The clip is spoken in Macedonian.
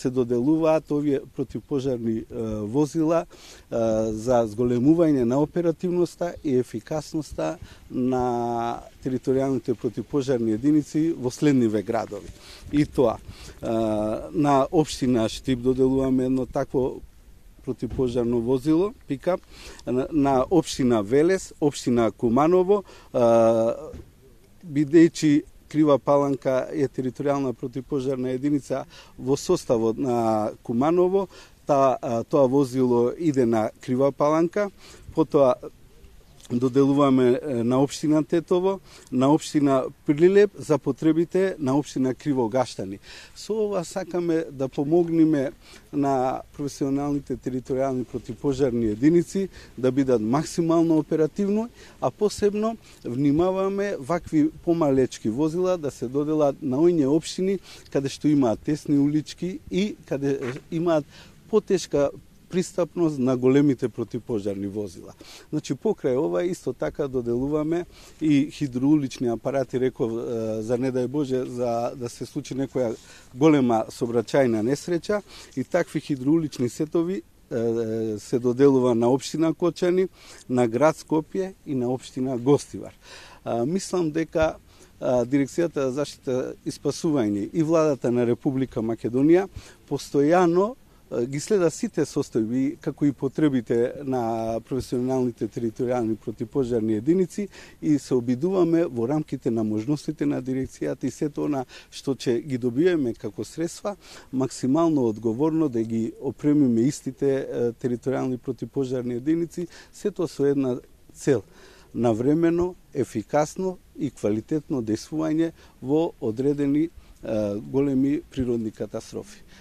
се доделуваат овие противпожарни возила за зголемување на оперативноста и ефикасноста на територијалните противпожарни единици во следниве градови. И тоа, на општина Штип доделуваме едно такво противпожарно возило, пикап, на општина Велес, општина Куманово, бидејќи Крива Паланка е територијална противпожарна единица во составот на Куманово, тоа возило иде на Крива Паланка, потоа доделуваме на општина Тетово, на општина Прилеп за потребите на општина Кривогаштани. Со ова сакаме да помогнеме на професионалните територијални противпожарни единици да бидат максимално оперативно, а посебно внимаваме вакви помалечки возила да се доделат на оние општини каде што имаат тесни улички и каде имаат потешка пристапност на големите противпожарни возила. Значи, покрај ова исто така доделуваме и хидроулични апарати, реков, за не дај Боже, за да се случи некоја голема сообраќајна несреќа, и такви хидроулични сетови се доделува на општина Кочани, на град Скопје и на општина Гостивар. Мислам дека Дирекцијата за заштита и спасување и владата на Република Македонија постојано ги следа сите состојби, како и потребите на професионалните територијални противпожарни единици, и се обидуваме во рамките на можностите на дирекцијата и сето она што ќе ги добиеме како средства, максимално одговорно да ги опремиме истите територијални противпожарни единици, сето со една цел: навремено, ефикасно и квалитетно дејствување во одредени големи природни катастрофи.